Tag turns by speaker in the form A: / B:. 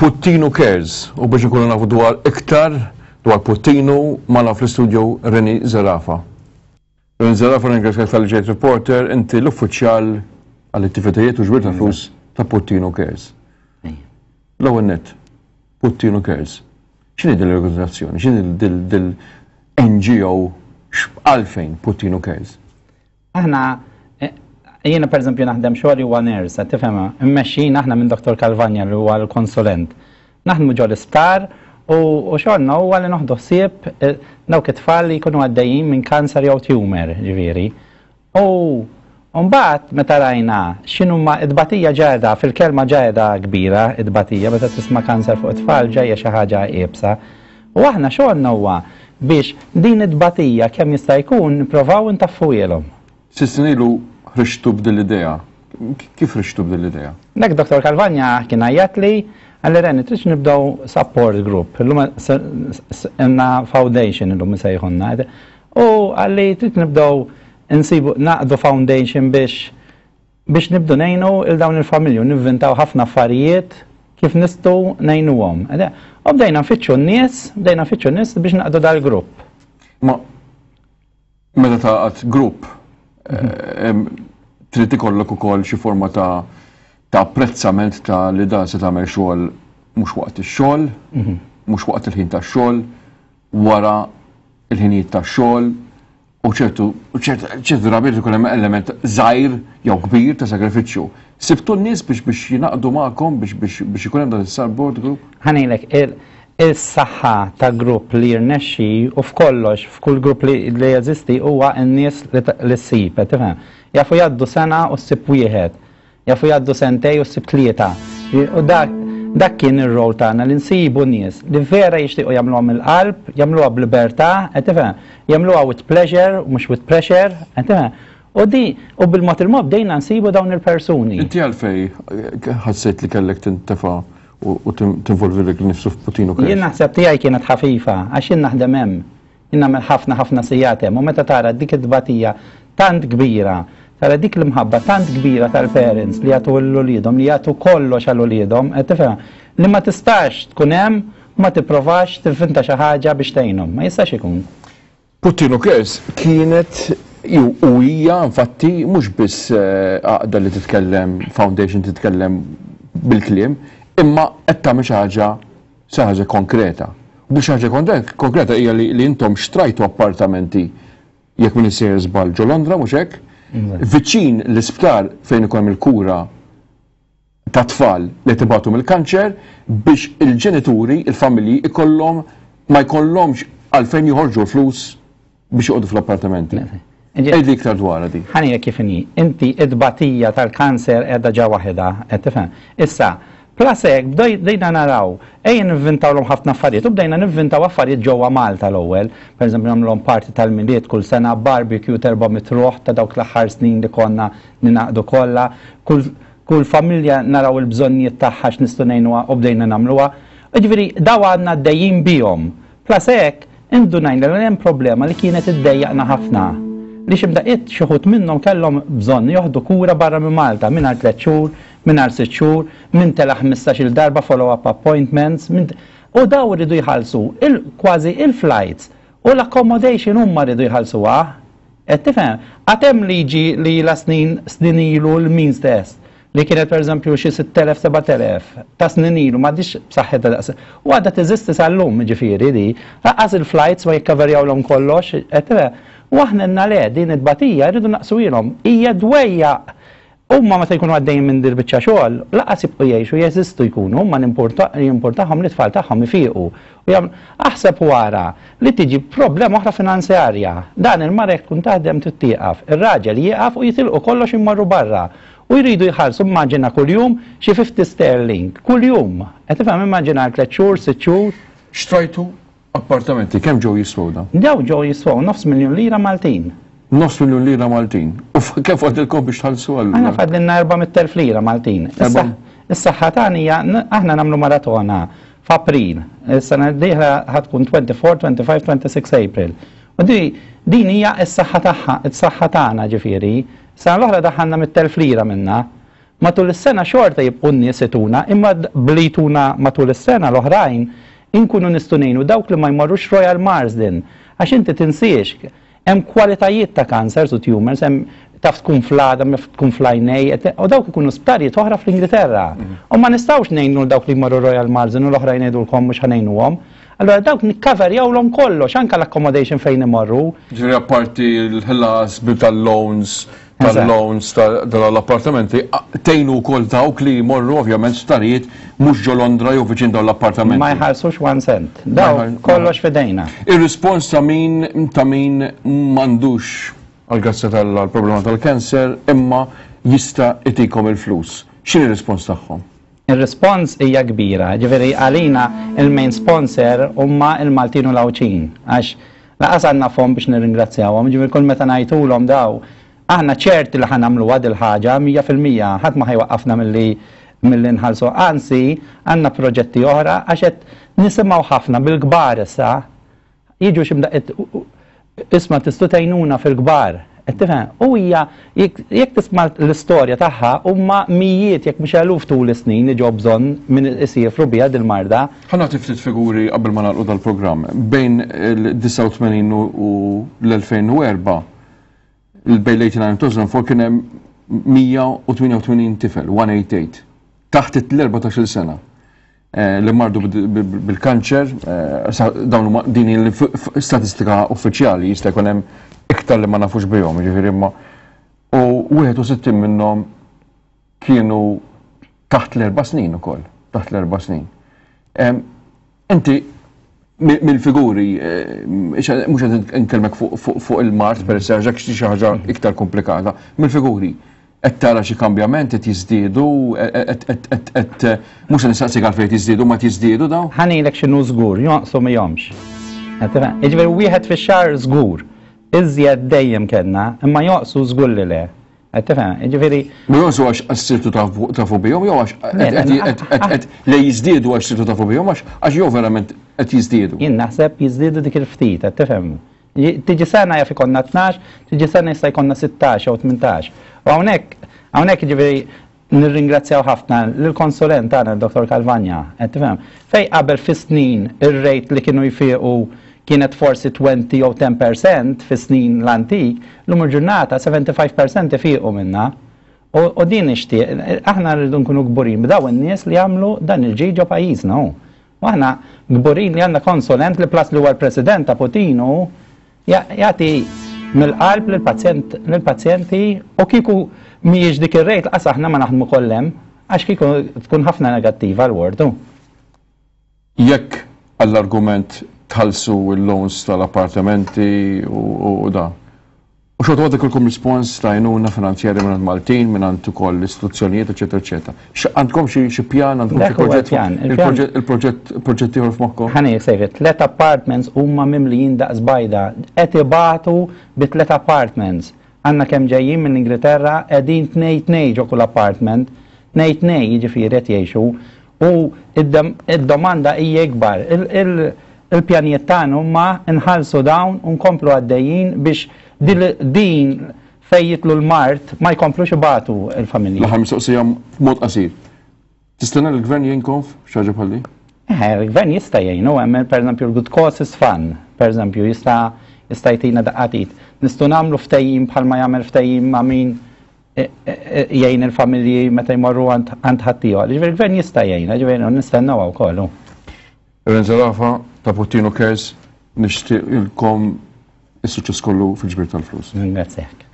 A: Puttinu Cares u biex inkunu nafu dwar iktar dwar Puttinu magħna fl-istudio Reni Zerafa. Reni Zerafa ringrazzjak talli ġejt reporter, inti l-uffiċjal għall-attivitajiet u ġbir ta' flus ta' Puttinu Cares. L-ewwel nett, Puttinu Cares. X'inhi din l-organizzazzjoni? X'inhi dil-NGO għalfejn Puttinu Cares?
B: Aħna, jiena pereżempju naħdem xogħli huwa nurse, qed tifhem, immexxin aħna minn Dr. Calvagna li huwa l-konsulent. Naħdmu ġo l-isptar u xogħolna huwa li noħdu ħsieb eh, dawk it-tfal li jkunu għaddejjin minn kanser jew tumor, ġifieri. U mbagħad meta rajna x'inhuma it-tbatija ġeda, fil-kelma ġeda kbira, it-tbatija meta tisma' kanser fuq it-tfal ġejja xi ħaġa iebsa. U aħna xogħolna huwa biex din it-tbatija kemm jista' jkun nipprovaw intaffuhielhom.
A: Sitt snin ilu ħriġtu b'din l-idea. Kif ħriġtu b'din l-idea?
B: Dak Dottor Calvagna kien għajjatli, qalli Rennie tridx nibdew support group, illum għandna foundation illum isejħulna. U qalli trid nibdew insibu naqdu foundation biex biex nibdu ngħinu 'l dawn il-familji u nivvintaw ħafna affarijiet kif nistgħu ngħinuhom. U bdejna nfittxu n-nies, bdejna nfittxu n-nies biex naqdu dal-grupp.
A: Ma meta taqgħod grupp eh, trid ikollok ukoll xi forma ta' ta' apprezzament ta' li dan se tagħmel xogħol mhux waqt ix-xogħol, mhm. mhux waqt il-ħin tax-xogħol, wara il-ħinijiet tax-xogħol, U ċertu, ċertu drabi jkun hemm element żgħir jew kbir ta' sagrifiċċju. Sibtu n-nies biex biex jingħaqdu magħkom biex biex biex ikun hemm dan is-support group?
B: Ħa ngħidlek, is-saħħa ta' grupp li jirnexxi u f'kollox, f'kull grupp li li jeżisti huwa n-nies li ssib, qed tifhem? Jafu jgħaddu sena u ssib wieħed. Jafu jgħaddu sentej u ssib tlieta. U dak dak kien ir-role tagħna li nsibu nies li vera jixtiequ jagħmluha mill-qalb, jagħmluha b'libertà, qed tifhem? Jagħmluha with pleasure u mhux with pressure, qed tifhem? U di u bil-mod il-mod bdejna nsibu dawn il-persuni.
A: Inti għalfej ħassejt li kellek tintefa' u tinvolvi lilek innifsu f'Putin u
B: Jien naħseb tiegħi kienet ħafifa għax jien naħdem hemm. Jien nagħmel ħafna ħafna sigħat hemm u meta tara dik it-tbatija tant kbira, tara dik l-imħabba tant kbira tal-parents li jagħtu lil uliedhom, li jagħtu kollox għal uliedhom, qed tifhem, li ma tistax tkun hemm u ma tipprovax tivvinta xi ħaġa biex tgħinhom. Ma jistax ikun.
A: Puttinu Cares
B: kienet
A: u hija infatti mhux biss għaqda li titkellem, foundation titkellem bil-kliem, imma qed tagħmel xi ħaġa xi ħaġa konkreta. U dik xi ħaġa konkreta hija li intom xtrajtu appartamenti jekk m'iniex sejjer żball ġo Londra mhux hekk? Viċin l-isptar fejn ikun hemm il-kura ta' tfal li qed ibatu mill-kanċer biex il-ġenituri, il-familji ikollhom ma jkollhomx għalfejn joħorġu l-flus biex joqogħdu fl-appartamenti. Għidli iktar dwarha
B: di. Ħa ngħidlek kif inhi. Inti t-tbatija tal-kanser qiegħda ġa waħedha, qed tifhem? Issa, plus hekk bdejna naraw, ejja nivvintawlhom ħafna affarijiet u bdejna nivvintaw affarijiet ġewwa Malta l-ewwel. Pereżempju nagħmluhom party tal-Milied kull sena, barbecue t'erba' ruħ ta' dawk l-aħħar snin li konna ningħaqdu kollha. Kull kull familja naraw il-bżonnijiet tagħha x'nistgħu ngħinuha u bdejna nagħmluha. Jiġifieri dawn għadna għaddejjin bihom. Plus hekk, indunajna li hemm problema li kienet iddejjaqna ħafna. Li xi mdaqqiet xi wħud minnhom kellhom bżonn joħdu kura barra minn Malta, min għal tlett xhur, min għal sitt xhur, min tela' ħmistax-il darba follow-up appointments, min u dawn riedu jħallsu il kważi il-flights u l-accommodation huma riedu jħallsuha. Qed tifhem? Għad hemm liġi li ilha snin snin ilu l-means test li kienet pereżempju xi 6,000 7,000 ta' snin ilu m'għadhiex b'saħħitha daqs. U għadha teżisti sal-lum jiġifieri di. Lanqas il-flights ma jikkaverjawlhom kollox, qed tifhem? U aħna għedna le, din it-tbatija rridu naqsuhielhom. Hija dwejjaq Huma meta jkunu għaddejjin minn dil-biċċa xogħol, lanqas jibqgħu jgħixu, jeżistu jkunu, huma jimpurtahom li t-tfal tagħhom ifiqu. U jagħmlu, aħseb u ara li tiġi problema oħra finanzjarja. Dan il-mara jekk tkun taħdem trid tieqaf, ir-raġel jieqaf u jitilqu kollox immorru barra. U jridu jħallsu immaġina kuljum xi 50 sterling, kuljum. Qed tifhem immaġina għal tliet xhur, sitt xhur.
A: Xtrajtu Appartamenti kemm ġew jiswew
B: dawn? Dawn ġew jiswew nofs miljun lira Maltin.
A: Nofs miljun lira Maltin. U kemm fadlilkom biex tħallsu
B: allura? Aħna fadlilna 400,000 lira Maltin. Is-saħħa tagħna hija aħna nagħmlu maratona f'April. Is-sena d-dieħla ħa tkun 24, 25, 26 April. U di din hija s-saħħa tagħha, is-saħħa tagħna ġifieri. Sena l-oħra daħħalna 100,000 lira minnha. Matul is-sena xorta jibqgħu n-nies ituna, imma bli jtuna matul is-sena l-oħrajn inkunu nistgħu ngħinu dawk li ma jmorrux Royal Marsden. Għax inti tinsiex, hemm kwalitajiet ta' cancers u tumors, hemm taf tkun fl-għadam, jaf tkun fl-għajnej, u dawk ikunu sptarijiet oħra fl-Ingilterra. U ma nistgħux ngħinu dawk li jmorru Royal Marsden u l-oħrajn ngħidulkom mhux ħa ngħinuhom. Allura dawk nikkaverjawlhom kollox, anke l-accommodation fejn imorru.
A: Ġifieri apparti l-ħlas tal-loans tal-loans tal-appartamenti, tgħinu wkoll dawk li jmorru ovvjament sptarijiet mhux ġo Londra jew viċin dawn l-appartamenti.
B: Ma jħallsux one cent. Daw kollox f'idejna.
A: Ir-rispons ta' min ta' min m'għandux għall-grazzja t'Alla l-problema tal-cancer imma jista' itikom il-flus. X'inhi r-rispons tagħhom?
B: Ir-rispons hija kbira, ġifieri għalina il-main sponsor huma l-Maltin u l-Għawdxin għax Lanqas għandna fomm biex nirringrazzjawhom, jiġifieri kull meta ngħidulhom daw, aħna ċerti li ħa nagħmluha dil-ħaġa 100%, ħadd ma ħa jwaqqafna milli milli nħallsu. Anzi, għandna proġetti oħra għax qed nisimgħu ħafna bil-kbar issa, jiġu xi mdaqqiet isma' tistgħu tgħinuna fil-kbar. Qed tifhem? U hija jekk tisma' l-istorja tagħha huma mijiet jekk mhux eluf tul is-snin li ġew bżonn min isiefru biha dil-marda.
A: Ħa nagħti ftit figuri qabel ma nagħlqu dal-programm. Bejn il-89 u l-2004, bejn l-89 u 2004 kien hemm 188 tifel, 188, taħt l-14-il sena. Eh, li mardu bil-kanċer, eh, dawn huma din l-statistika uffiċjali jista' jkun hemm iktar li ma nafux bihom, jiġifieri imma u 61 minnhom kienu taħt l-erba' snin ukoll, taħt l-erba' snin. Inti mill-figuri, eh, mhux qed nkellmek fuq il-mart per se għax xi ħaġa iktar komplikata, mill-figuri Qed tara xi kambjament qed jiżdiedu, qed mhux se nistaqsik għalfejn qed jiżdiedu, ma qed jiżdiedu dawn?
B: Ħa ngħidlek x'inhu żgur, jonqsu mihomx. Jiġifieri wieħed fix-xahar żgur. Iżjed dejjem kellna, imma jonqsu żgur li le. Qed tifhem? Jiġifieri.
A: Ma jonqsu għax sirtu tafu bihom jew għax qed le jiżdiedu għax sirtu tafu bihom għax jew verament qed jiżdiedu.
B: Jien naħseb jiżdiedu dik il-ftit, qed tifhem? Tiġi sena jaf ikollna 12, tiġi sena jista' jkollna 16 jew 18. U hawnhekk, hawnhekk jiġifieri nirringrazzjaw ħafna lill-konsulent tagħna Dr. Calvagna, qed tifhem? Fej qabel fis-snin ir-rate li kienu jfiequ kienet forsi 20 jew 10% fis-snin l-antik, lum il-ġurnata 75% ifiequ minna. U din nixtieq, aħna rridu nkunu kburin b'daw in-nies li jagħmlu dan il-ġid ġo pajjiżna. U aħna kburin li għandna konsulent li plus li huwa l-president ta' Puttinu jagħti mill-qalb lill-pazjenti u kieku mhijiex dik ir-rate laqas aħna ma naħdmu koll hemm għax kieku tkun ħafna negattiva l-ward.
A: Jekk għall-argument tħallsu l-loans tal-appartamenti u da, U xorta waħda jkollkom rispons ta' għajnuna finanzjarja mingħand Maltin, mingħand ukoll istituzzjonijiet, eċetera, eċetera. Għandkom xi pjan, għandkom xi proġett? Il-proġett proġett ieħor f'moħħkom?
B: Ħa ngħid sejri, tlet apartments huma mimlijin daqs bajda, qed ibatu bi tlet apartments. Għandna kemm ġejjin mill-Ingilterra qegħdin tnej tnej ġo kull apartment, tnej tnej jiġifieri qed jgħixu u id-domanda hija ikbar. Il-pjanijiet tagħna huma nħallsu dawn u nkomplu għaddejjin biex din fejn jidħlu l-mard ma jkomplux ibatu l-familji.
A: L-aħħar mistoqsija b'mod qasir. Tistenna li l-gvern jgħinkom f'xi ħaġa bħal din?
B: Eh, il-gvern jista' jgħinu, hemm pereżempju l-Good Causes Fund, pereżempju jista' jista' jtina daqqa t'id. Nistgħu nagħmlu ftehim bħalma jagħmel ftehim ma' min jgħin il-familji meta jmorru għand ħaddieħor. Ġifieri l-gvern jista' jgħinna, ġifieri nistennewha wkoll.
A: Aaron Zerafa ta' Puttinu Cares nixtieqilkom is-suċċess kollu fil-ġbir tal-flus.
B: Ringrazzjak.